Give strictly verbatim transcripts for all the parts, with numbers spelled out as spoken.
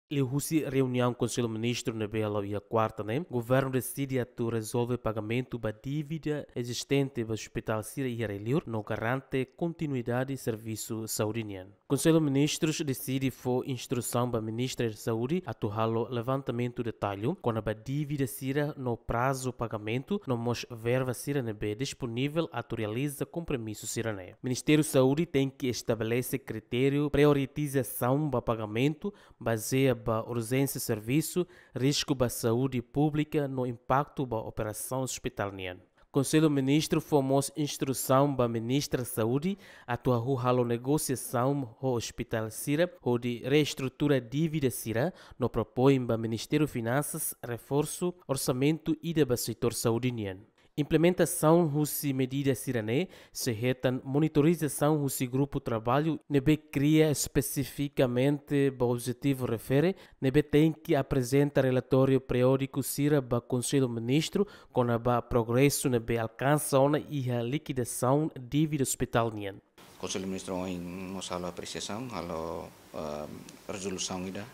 Liuhusi reuniaun Konsellu Ministru ne'ebé hala'o iha kuarta ne'e, governu deside atu rezolve pagamentu ba dívida ezistente ba ospitál sira iha rai-liur no garante kontinuidade servisu saúde nian. Konsellu Ministrus deside fó instrusaun ba Ministra Saúde atu halo levantamentu detallu kona-ba dívida sira no prazu pagamentu no mós verba sira ne'ebé disponivel atu realiza kompromisu sira-ne'e. Ministériu Saúde tenke estabelese kritériu prioritizasaun ba pagamentu bazeia ba urjénsia servisu, risku ba saúde públika no impaktu ba operasaun ospitál nian. Konsellu Ministru fó mós instrusaun ba Ministra Saúde atu hahú halo negosiasaun ho ospitál sira hodi reestrutura dívida sira no propoin ba Ministériu Finansas reforsu orsamentu ida ba setór saúde nian. Implementasaun husi medida sira-ne'e sei hetan monitorizasaun husi grupu traballu ne'ebé kria espesifikamente ba objetivu refere, ne'ebé tenke aprezenta relatóriu periódiku sira ba Konsellu Ministru kona-ba progresu ne'ebé alkansa ona iha likidasaun dívida ospitál nian. Konsellu Ministru ohin mós halo apresiasaun, halo, eh, rezolusaun ida,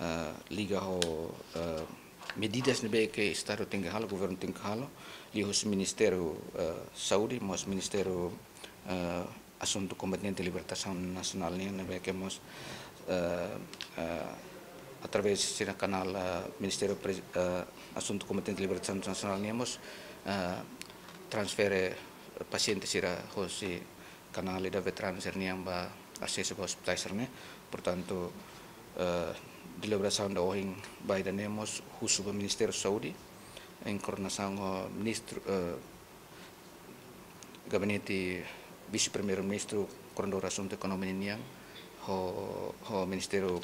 eh, liga ho, eh, medidas ne'ebé ke Estadu tenke halo, governu tenke halo, liuhusi Ministériu, eh, Saúde, mós Ministériu, eh, Asuntu Kombatente Libertasaun Nasionál nian, ne'ebé ke mós, eh, eh, através sira kanál, eh, Ministériu Pres-, eh, Asuntu Kombatente Libertasaun Nasionál nian mós, eh, transfere pasiente sira hosi kanál ida veteranu sira-nian ba asesu ba ospitál sira-ne'e. Portantu, eh, deliberasaun ida ohin ba ida-ne'e mós husu ba Ministériu Saúde, em coordenação ho Ministru, eh, Gabinete Vise-Primeiru-Ministru, Koordenadór Asuntu Ekonomia nian, ho, ho Ministériu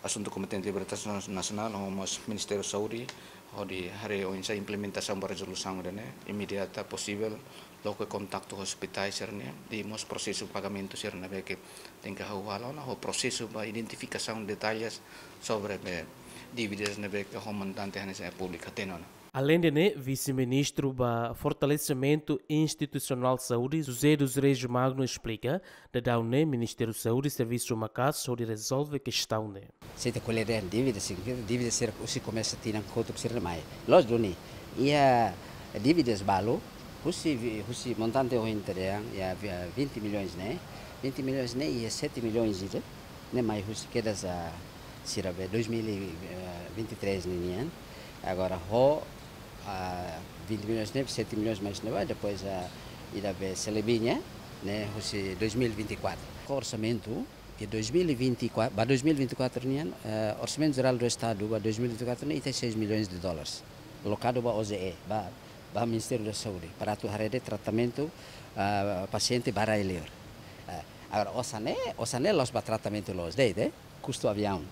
Asuntu Kombatente Libertasaun Nasionál, ho mós Ministériu Saúde, hodi haree oinsá implementasaun ba rezolusaun ida-ne'e, imediata posivel, loke kontaktu ho ospitál sira-ne'e, i mós prosesu pagamentu sira ne'ebé ke tenke hahú halo ona, ho prosesu ba identifikasaun detalles sobre be dívidas ne'ebé ke ho montante hanesan públiku hatene ona. Aleinde ne'e, Vise-Ministru ba Fortalesimentu Institusionál Saúde, José dos Reis Magno, esplika, daudaun ne'e Ministériu Saúde servisu maka'as hodi rezolve kestaun ne'e. Se ita ko'alia dehan dívida, signifika dívida sira husi komesa tinan kotuk sira mai. Loos duni, iha dívidas balu, husi vi-, husi montante ohin ita dehan, iha vi-, vinte milhões ne'e, vinte milhões ne'e, iha sete milhões ida, ne'e mai husi kedas, ah, sira be dois mil e vinte e três ninian. Agora ho, ah, vinte milhões ne'e, sete milhões mais ne'ebá, depois, ah, ida be selebihnya, ne'e husi dois mil e vinte e quatro. Ho orsamentu ke dois mil e vinte e quatro, ba dois mil e vinte e quatro nian, eh, Orsamentu Jerál do Estadu ba dois mil e vinte e quatro ne'e iha seis milhões de dólares alokadu ba O J E, ba, ba Ministériu da Saúde, para atu haree de'it tratamentu, ah, pasiente ba rai-liur. Eh, agora, osan ne'e, osan ne'e la'ós ba tratamentu loos de'it, eh? Kustu aviaun.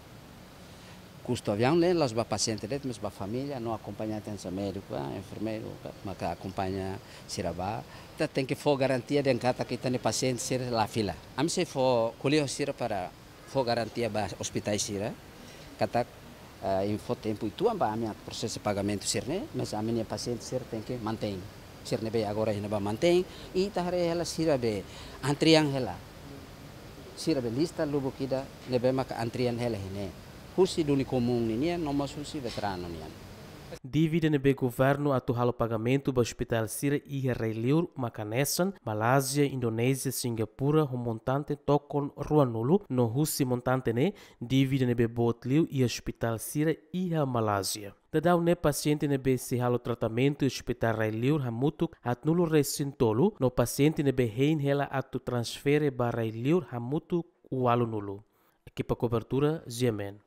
Kustu aviaun ne'e la'ós ba pasiente de'it, mas ba família, no akompañante hanesan médiku, ah, enfermeiru, ka, maka akompaña sira ba. Ita tenke fó garantia dehan katak ita-nia pasiente sira la fila. Ami sei fó ko'alia ho sira para fó garantia ba ospitál sira katak, ah, iha fó tempu uitoan ba ami atu prosesa pagamentu sira-ne'e, mas ami-nia pasiente sira tenke mantein. Sira ne'ebé agora iha ne'ebá mantein, i ita haree hela sira be antrian hela. Sira be lista lubuk ida ne'ebé maka antrian hela iha ne'e. Husi duni komún ninian, no mós husi veteranu nian. Dívida ne'ebé governu atu halo pagamentu ba ospitál sira iha rai-liur maka hanesan Malázia, Indonézia, Singapura, ho montante tokon ruanulu, no husi montante ne'e, dívida ne'ebé boot liu iha ospitál sira iha Malázia. Daudaun ne'e pasiente ne'ebé sei halo tratamentu iha ospitál rai-liur hamutuk haatnulu-resin-tolu, no pasiente ne'ebé hein hela atu transfere ba rai-liur hamutuk ualunulu. Ekipa kobertura, G M N.